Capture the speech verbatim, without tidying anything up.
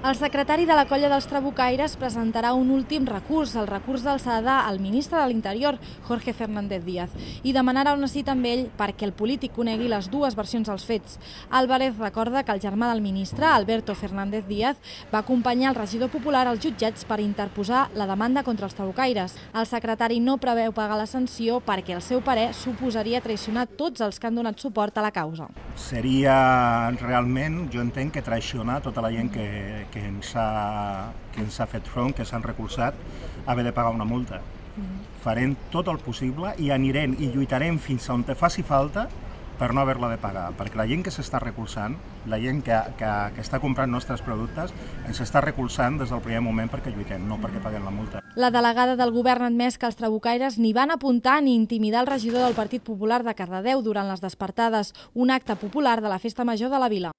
El secretari de la colla dels trabucaires presentarà un últim recurs, el recurs d'alçada al ministre de l'Interior, Jorge Fernández Díaz, i demanarà una cita amb ell perquè el polític conegui les dues versions dels fets. Álvarez recorda que el germà del ministre, Alberto Fernández Díaz, va acompanyar el regidor popular als jutjats per interposar la demanda contra els trabucaires. El secretari no preveu pagar la sanció perquè, al seu parer, suposaria traicionar tots els que han donat suport a la causa. Seria realment, jo entenc, que traicionar tota la gent que, que, ens ha, que ens ha fet front, que s'han recolzat, haver de pagar una multa. Farem tot el possible i anirem i lluitarem fins on te faci falta per no haver-la de pagar, perquè la gent que s'està recolzant, la gent que, que, que està comprant nostres productes, ens està recolzant des del primer moment perquè lluitem, no perquè paguem la multa. La delegada del govern ha admès que els trabucaires ni van apuntar ni intimidar el regidor del Partit Popular de Cardedeu durant les despertades, un acte popular de la Festa Major de la Vila.